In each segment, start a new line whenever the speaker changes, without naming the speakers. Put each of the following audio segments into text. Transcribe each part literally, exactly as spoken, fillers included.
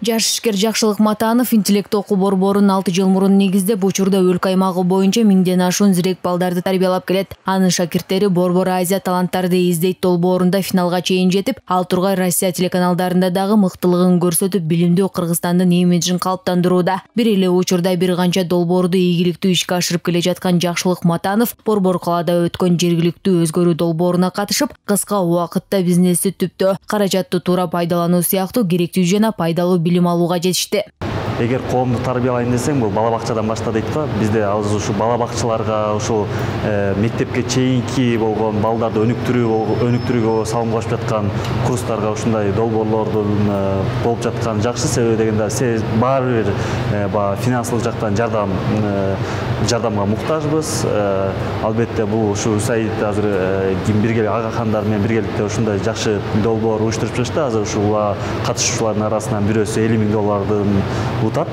Жаш ишкер Жакшылык Матанов интеллект окуу борборун алты жыл мурун негиздеп, учурда өлкө аймагы боюнча миңден ашуун зирек балдарды тарбиялап келет. Анын шакирттери Борбор Азия таланттарды издейт долбоорунда финалга чейин жетип, ал тургай Россия телеканалдарында дагы мыктылыгын көрсөтүп, билимдүү Кыргызстандын имиджин калыптандырууда. Бир эле учурда бир канча долбоорду ийгиликтүү ишке ашырып келе жаткан Жакшылык Матанов Борбор калаада өткөн жергиликтүү өзгөрүү долбооруна катышып, кыска убакытта бизнести түптө, каражатты туура пайдалануу сыяктуу керектүү жана пайдалуу билим алууга жетишти.
Эгер коомду тарбиялайм десең, бул бала бакчадан башта дейт го. Бизде азыр ушу бала бакчаларга, ушул мектепке чейинки болгон балдарды өнүктүрүү өнүктүрүүгө салым кошуп жаткан курстарга ушундай долбоорлордун болуп жаткан жакшы. Себеби дегенде баары бир баягы финансылык жактан жардам жардамга муктажбыз. Албетте бул ушу Саид азыр бирге агахандар менен биргеликте ушундай жакшы долбоор уюштуруп жатышты. Азыр ушул катышуучулардын арасынан бирөөсү элүү миң доллардын утат.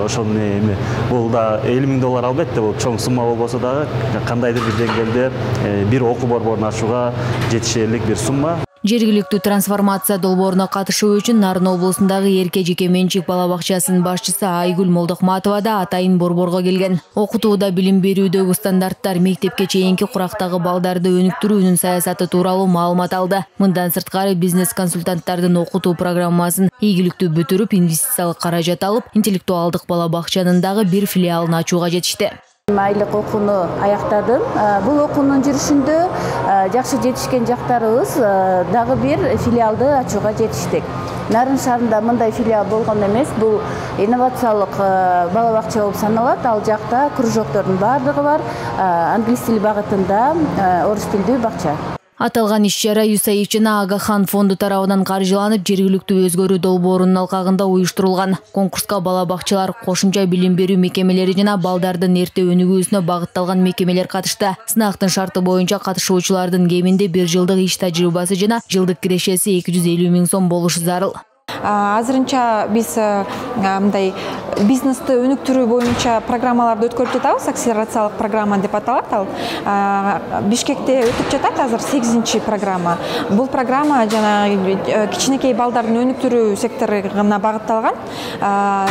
Ошону эми бул да элүү миң доллар албетте бул чоң сумма болбосо дагы кандайдыр бир деңгээлде бир окуу борборун ачууга жетишерлик бир сумма.
Жергиликтүү трансформация долбооруна катышуу үчүн Нарын облусундагы Эрке жеке менчик бала бакчасынын башчысы Айгүл Молдохматова да атайын борборго келген. Окутууда, билим берүүдөгү стандарттар, мектепке чейинки курактагы балдарды өнүктүрүүнүн саясаты тууралуу маалымат алды. Мындан сырткары бизнес консультанттардын окутуу программасын ийгиликтүү бүтүрүп, инвестициялык каражат алып, интеллектуалдык бала бакчанын дагы бир филиалын ачууга жетишти.
Айлык окууну аяктадым. Бул окуунун жүрүшүндө жакшы жетишкен жактарыбыз дагы бир филиалды ачууга жетиштик. Нарын шаарында мындай филиал болгон эмес. Бул инновациялык бала бакча болуп саналат. Ал жакта кружоктордун баардыгы бар. Англис тили багытында орус тилдүү бакча.
Аталган иш-чара ЮСАИД жана Агахан фонду тарабынан каржыланып, жергиликтүү өзгөрүү долбоорунун алкагында уюштурулган. Конкурска бала бакчалар, кошумча билим берүү мекемелери жана балдардын эрте өнүгүүсүнө багытталган мекемелер катышты. Сынактын шарты боюнча катышуучулардын кеминде бир жылдык иш тажрыйбасы жана жылдык кирешеси эки жүз элүү миң сом болушу зарыл.
Азырынча биз мындай бизнести өнүктүрүү боюнча программаларды өткөрүп жатабыз. Акселерациялык программа деп аталат ал. Бишкекте өтүп жатат азыр сегизинчи программа. Бул программа жана кичинекей балдардын өнүктүрүү секторуна багытталган.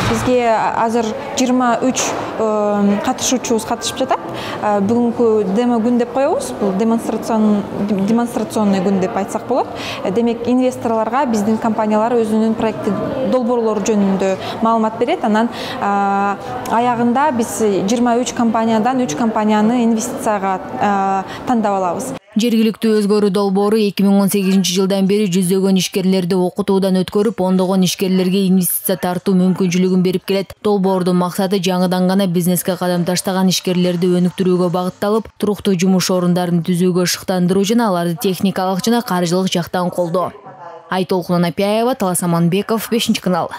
Бизге азыр жыйырма үч катышуучубуз катышып жатат. Бүгүнкү демо күн деп коебуз. Бул демонстрацион демонстрационный күн деп айтсак болот. Демек инвесторлорго биздин компаниялар өзүнүн проекти долбоорлору жөнүндө маалымат берет. Анан аягында биз жыйырма үч компаниядан үч компанияны инвестицияга тандап алабыз.
Жергиликтүү өзгөрүү долбоору эки миң он сегизинчи жылдан бери жүздөгөн ишкерлерди окутуудан өткөрүп, ондогон ишкерлерге инвестиция тартуу мүмкүнчүлүгүн берип келет. Долбоордун максаты жаңыдан гана бизнеске кадам таштаган ишкерлерди өнүктүрүүгө багытталып, туруктуу жумуш орундарын түзүүгө шыктандыруу жана аларды техникалык жана каржылык жактан колдоо. Айтолкун Анапияева, Талас Аманбеков, бешинчи канал.